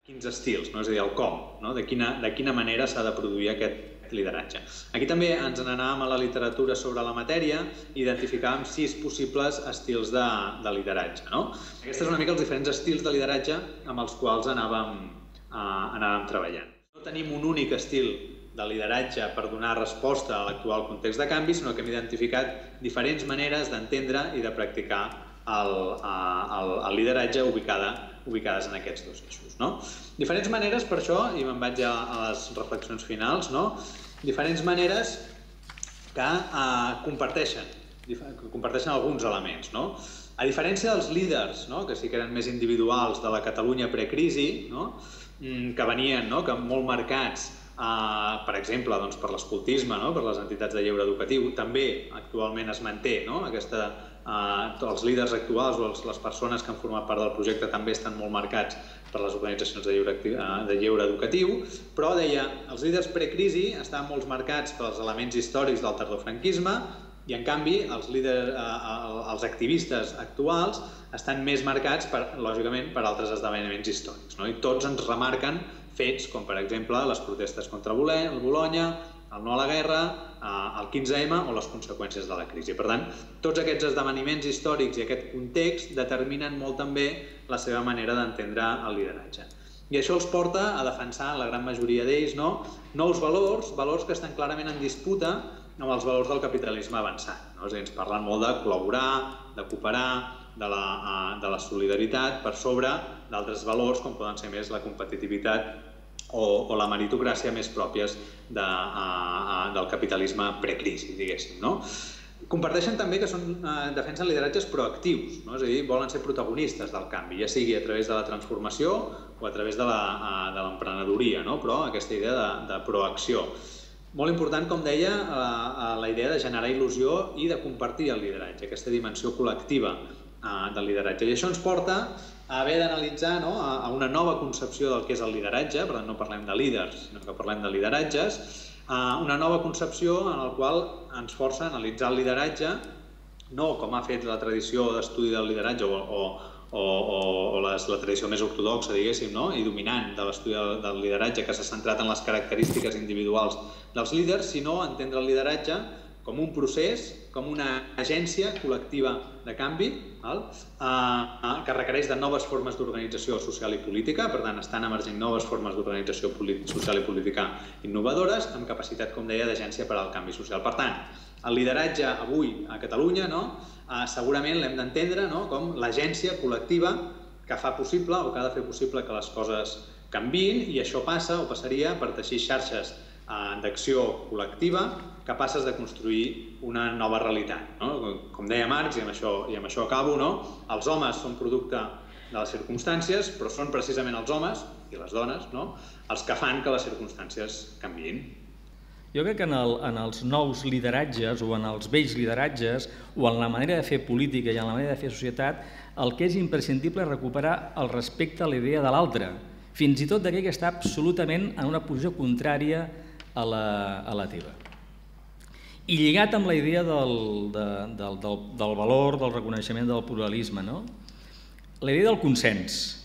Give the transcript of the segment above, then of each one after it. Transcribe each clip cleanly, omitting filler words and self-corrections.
quins estils, és a dir, el com, de quina manera s'ha de produir aquest lideratge. Aquí també ens n'anàvem a la literatura sobre la matèria i identificàvem 6 possibles estils de lideratge. Aquests són una mica els diferents estils de lideratge amb els quals anàvem treballant. No tenim un únic estil de lideratge per donar resposta a l'actual context de canvi, sinó que hem identificat diferents maneres d'entendre i de practicar el lideratge ubicades en aquests 2 eixos. Diferents maneres, per això, i me'n vaig a les reflexions finals, diferents maneres que comparteixen alguns elements. A diferència dels líders, que sí que eren més individuals de la Catalunya precrisi, que venien molt marcats, per exemple, per l'escoltisme, per les entitats de lleure educatiu, també actualment es manté els líders actuals o les persones que han format part del projecte també estan molt marcats per les organitzacions de lleure educatiu, però deia, els líders precrisi estaven molt marcats pels elements històrics del tardofranquisme i, en canvi, els activistes actuals estan més marcats, lògicament, per altres esdeveniments històrics. I tots ens remarquen fets com, per exemple, les protestes contra Bolonya, el no a la guerra, el 15M o les conseqüències de la crisi. Per tant, tots aquests esdeveniments històrics i aquest context determinen molt també la seva manera d'entendre el lideratge. I això els porta a defensar, la gran majoria d'ells, nous valors que estan clarament en disputa amb els valors del capitalisme avançat. És a dir, ens parlen molt de col·laborar, de cooperar, de la solidaritat per sobre d'altres valors com poden ser més la competitivitat o la meritocràcia més pròpies del capitalisme precrisi, diguéssim. Comparteixen també que defensen lideratges proactius, és a dir, volen ser protagonistes del canvi, ja sigui a través de la transformació o a través de l'emprenedoria, però aquesta idea de proacció. Molt important, com deia, la idea de generar il·lusió i de compartir el lideratge, aquesta dimensió col·lectiva del lideratge. I això ens porta a haver d'analitzar una nova concepció del que és el lideratge, per tant no parlem de líders, sinó que parlem de lideratges, una nova concepció en la qual ens força a analitzar el lideratge, no com ha fet la tradició d'estudi del lideratge o la tradició més ortodoxa, diguéssim, i dominant de l'estudi del lideratge que s'ha centrat en les característiques individuals dels líders, sinó entendre el lideratge com un procés, com una agència col·lectiva de canvi que requereix de noves formes d'organització social i política, per tant estan emergint noves formes d'organització social i política innovadores amb capacitat, com deia, d'agència per al canvi social. Per tant, el lideratge avui a Catalunya segurament l'hem d'entendre com l'agència col·lectiva que fa possible o que ha de fer possible que les coses canviïn, i això passa o passaria per teixir xarxes d'acció col·lectiva capaces de construir una nova realitat. Com deia Marx, i amb això acabo, els homes són producte de les circumstàncies, però són precisament els homes i les dones els que fan que les circumstàncies canviïn. Jo crec que en els nous lideratges o en els vells lideratges o en la manera de fer política i en la manera de fer societat, el que és imprescindible és recuperar el respecte a la idea de l'altre, fins i tot d'aquell que està absolutament en una posició contrària a la teva. I lligat amb la idea del valor, del reconeixement del pluralisme, la idea del consens.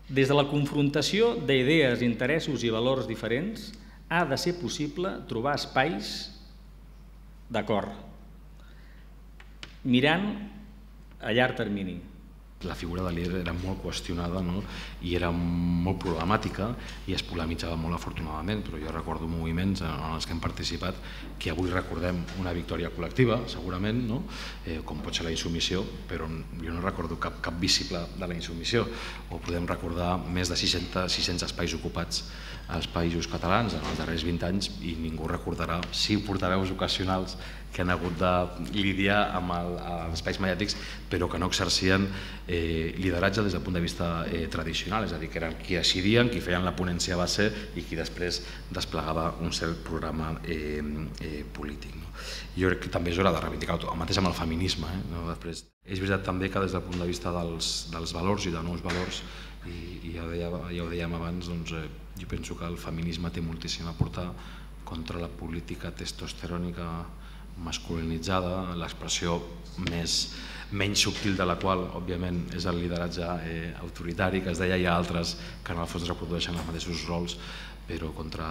Des de la confrontació d'idees, interessos i valors diferents, ha de ser possible trobar espais d'acord, mirant a llarg termini. La figura de líder era molt qüestionada i era molt problemàtica i es polemitzava molt, afortunadament, però jo recordo moviments en els que hem participat que avui recordem una victòria col·lectiva, segurament, com pot ser la insubmissió, però jo no recordo cap visible de la insubmissió, o podem recordar més de 600 espais ocupats als països catalans en els darrers 20 anys i ningú recordarà 5 portaveus ocasionals que han hagut de lidiar amb els espais mediàtics però que no exercien lideratge des del punt de vista tradicional, és a dir, que eren qui decidien, qui feien la ponència base i qui després desplegava un cert programa polític. Jo crec que també és hora de reivindicar el mateix amb el feminisme. És veritat també que des del punt de vista dels valors i de nous valors, i ja ho dèiem abans, jo penso que el feminisme té moltíssim a aportar contra la política testosterònica masculinitzada, l'expressió menys subtil de la qual, òbviament, és el lideratge autoritari, que es deia, hi ha altres que en el fons reprodueixen els mateixos rols, però contra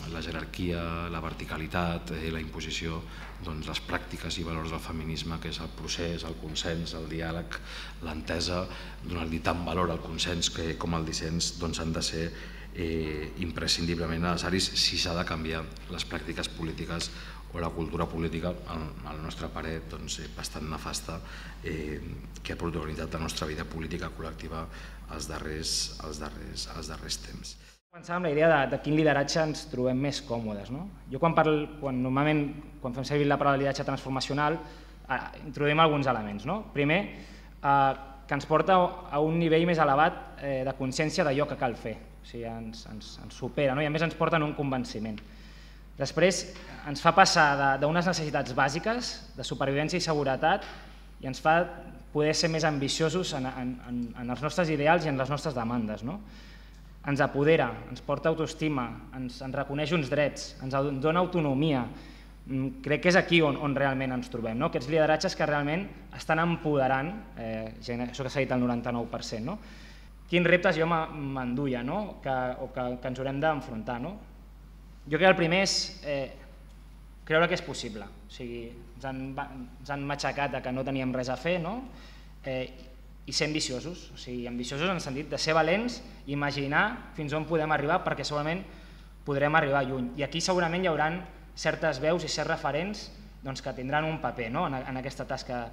la jerarquia, la verticalitat, la imposició, les pràctiques i valors del feminisme, que és el procés, el consens, el diàleg, l'entesa, donar-li tant valor al consens com al dissens, han de ser imprescindiblement necessaris si s'ha de canviar les pràctiques polítiques o la cultura política, al nostre parer, bastant nefasta, que ha protagonitzat la nostra vida política col·lectiva els darrers temps. Començàvem amb la idea de quin lideratge ens trobem més còmodes. Jo normalment, quan fem servir la paraula lideratge transformacional, introduïm alguns elements. Primer, que ens porta a un nivell més elevat de consciència d'allò que cal fer. O sigui, ens supera i a més ens porta en un convenciment. Després ens fa passar d'unes necessitats bàsiques de supervivència i seguretat i ens fa poder ser més ambiciosos en els nostres ideals i en les nostres demandes. Ens apodera, ens porta autoestima, ens reconeix uns drets, ens dona autonomia. Crec que és aquí on realment ens trobem, aquests lideratges que realment estan empoderant, això que s'ha dit el 99%. Quins reptes jo m'enduia o que ens haurem d'enfrontar? Jo crec que el primer és creure que és possible. Ens han matxacat que no teníem res a fer i ser ambiciosos. Ambiciosos en el sentit de ser valents, imaginar fins on podem arribar perquè segurament podrem arribar lluny. I aquí segurament hi haurà certes veus i certs referents que tindran un paper en aquesta tasca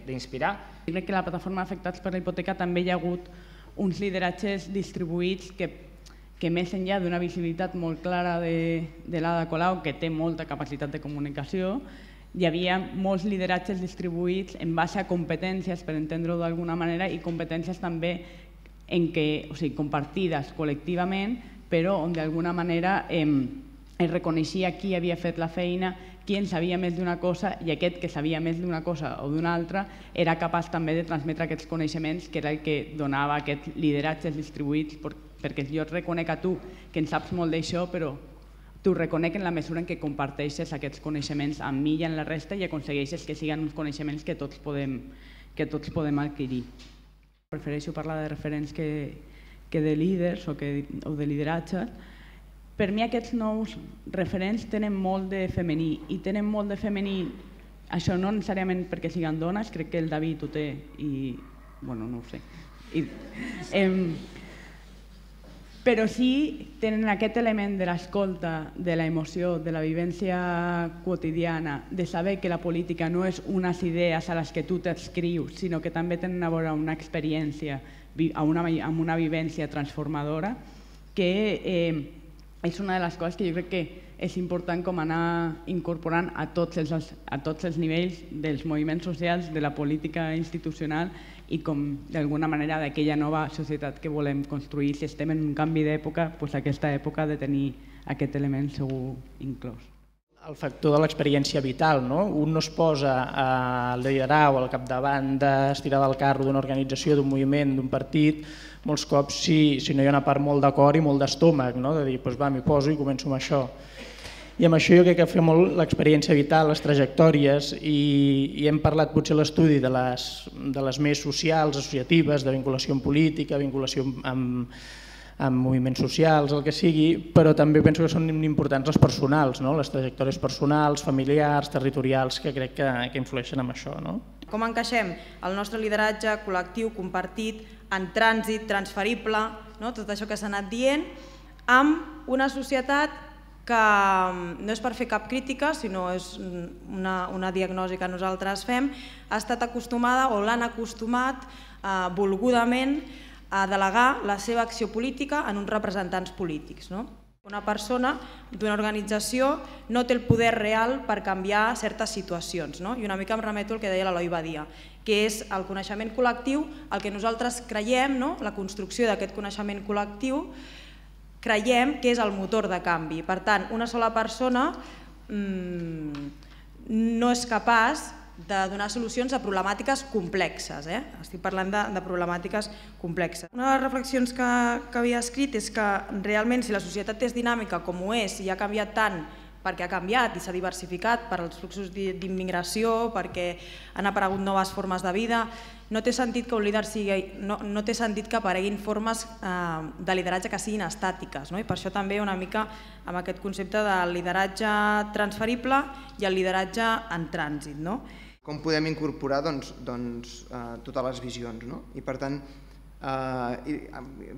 d'inspirar. Crec que a la plataforma Afectats per la Hipoteca també hi ha hagut uns lideratges distribuïts que més enllà d'una visibilitat molt clara de l'Ada Colau, que té molta capacitat de comunicació, hi havia molts lideratges distribuïts en base a competències, per entendre-ho d'alguna manera, i competències també compartides col·lectivament, però on d'alguna manera es reconeixia qui havia fet la feina, qui en sabia més d'una cosa, i aquest que sabia més d'una cosa o d'una altra era capaç també de transmetre aquests coneixements, que era el que donava aquests lideratges distribuïts, perquè jo et reconec a tu que en saps molt d'això, però t'ho reconec en la mesura en què comparteixes aquests coneixements amb mi i amb la resta i aconsegueixes que siguin uns coneixements que tots podem adquirir. Prefereixo parlar de referents que de líders o de lideratges. Per mi aquests nous referents tenen molt de femení, i tenen molt de femení, això no necessàriament perquè siguin dones, crec que el David ho té i, bueno, no ho sé, però sí tenen aquest element de l'escolta, de l'emoció, de la vivència quotidiana, de saber que la política no és unes idees a les que tu t'adscrius, sinó que també tenen a veure una experiència, amb una vivència transformadora, que és una de les coses que jo crec que és important com anar incorporant a tots els nivells dels moviments socials, de la política institucional i com d'alguna manera d'aquella nova societat que volem construir. Si estem en un canvi d'època, doncs aquesta època ha de tenir aquest element segur inclòs. El factor de l'experiència vital, un no es posa a liderar o al capdavant d'estirar del carro d'una organització, d'un moviment, d'un partit, molts cops si no hi ha una part molt de cor i molt d'estómac, de dir, doncs va, m'hi poso i començo amb això. I amb això jo crec que fa molt l'experiència vital, les trajectòries, i hem parlat potser a l'estudi de les més socials, associatives, de vinculació en política, vinculació amb moviments socials, el que sigui, però també penso que són importants les personals, les trajectòries personals, familiars, territorials, que crec que influeixen en això. Com encaixem el nostre lideratge col·lectiu, compartit, en trànsit, transferible, tot això que s'ha anat dient, amb una societat que no és per fer cap crítica, sinó és una diagnosi que nosaltres fem, ha estat acostumada o l'han acostumat volgudament a delegar la seva acció política en uns representants polítics. Una persona d'una organització no té el poder real per canviar certes situacions. I una mica em remeto al que deia l'Eloi Badia, que és el coneixement col·lectiu, el que nosaltres creiem, la construcció d'aquest coneixement col·lectiu, creiem que és el motor de canvi. Per tant, una sola persona no és capaç de donar solucions a problemàtiques complexes. Estic parlant de problemàtiques complexes. Una de les reflexions que havia escrit és que realment si la societat és dinàmica com ho és i ha canviat tant perquè ha canviat i s'ha diversificat per als fluxos d'immigració, perquè han aparegut noves formes de vida. No té sentit que un líder no té sentit que apareguin formes de lideratge que siguin estàtiques, i per això també una mica amb aquest concepte del lideratge transferible i el lideratge en trànsit. Com podem incorporar totes les visions, i per tant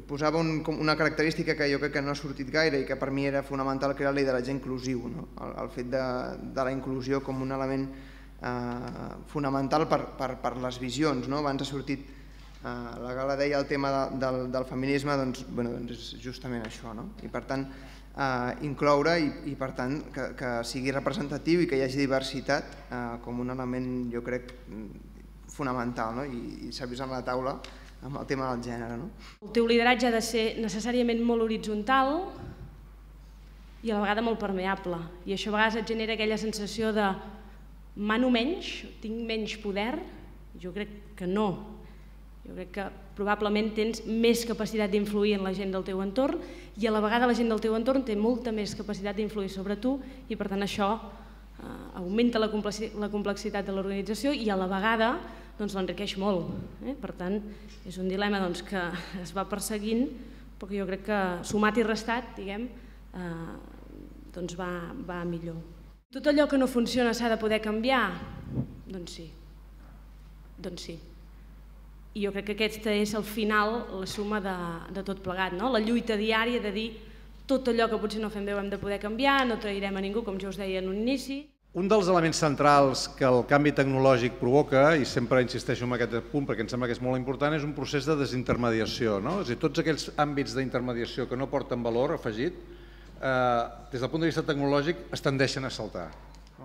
posava una característica que jo crec que no ha sortit gaire i que per mi era fonamental, que era el lideratge inclusiu, el fet de la inclusió com un element fonamental per les visions. Abans ha sortit, la Gala deia el tema del feminisme, doncs és justament això, i per tant incloure i per tant que sigui representatiu i que hi hagi diversitat com un element, jo crec, fonamental, i s'ha vist en la taula amb el tema del gènere. El teu lideratge ha de ser necessàriament molt horitzontal i a la vegada molt permeable, i això a vegades et genera aquella sensació de mano menys, tinc menys poder. Jo crec que no. Jo crec que probablement tens més capacitat d'influir en la gent del teu entorn i a la vegada la gent del teu entorn té molta més capacitat d'influir sobre tu i per tant això augmenta la complexitat de l'organització i a la vegada l'enriqueix molt. Per tant, és un dilema que es va perseguint però que jo crec que sumat i restat, diguem, va millor. Tot allò que no funciona s'ha de poder canviar? Doncs sí. Doncs sí. I jo crec que aquesta és al final la suma de tot plegat, la lluita diària de dir tot allò que potser no fem bé ho hem de poder canviar, no trairem a ningú, com jo us deia en un inici. Un dels elements centrals que el canvi tecnològic provoca, i sempre insisteixo en aquest punt perquè em sembla que és molt important, és un procés de desintermediació. És a dir, tots aquells àmbits d'intermediació que no porten valor afegit, des del punt de vista tecnològic, es tendeixen a saltar.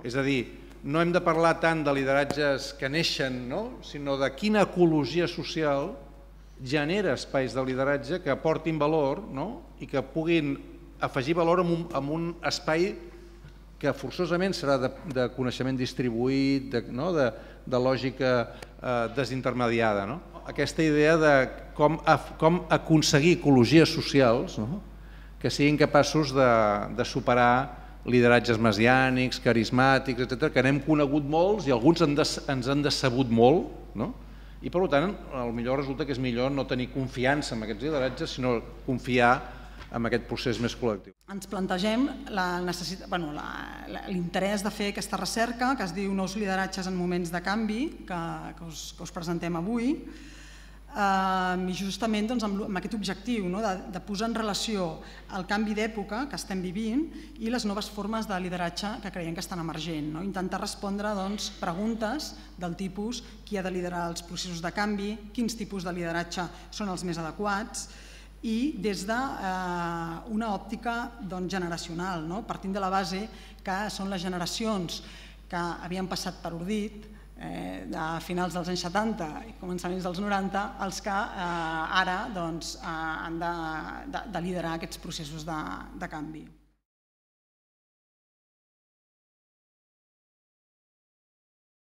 És a dir, no hem de parlar tant de lideratges que neixen, sinó de quina ecologia social genera espais de lideratge que aportin valor i que puguin afegir valor en un espai que forçosament serà de coneixement distribuït, de lògica desintermediada. Aquesta idea de com aconseguir ecologies socials que siguin capaços de superar lideratges messiànics, carismàtics, etc., que n'hem conegut molts i alguns ens han decebut molt, i per tant, potser resulta que és millor no tenir confiança en aquests lideratges, sinó confiar en aquest procés més col·lectiu. Ens plantegem l'interès de fer aquesta recerca que es diu Nous lideratges en moments de canvi, que us presentem avui, i justament amb aquest objectiu de posar en relació el canvi d'època que estem vivint i les noves formes de lideratge que creiem que estan emergent. Intentar respondre preguntes del tipus qui ha de liderar els processos de canvi, quins tipus de lideratge són els més adequats, i des d'una òptica generacional, partint de la base que són les generacions que havien passat per ordit de finals dels anys 70 i començaments dels 90 els que ara han de liderar aquests processos de canvi.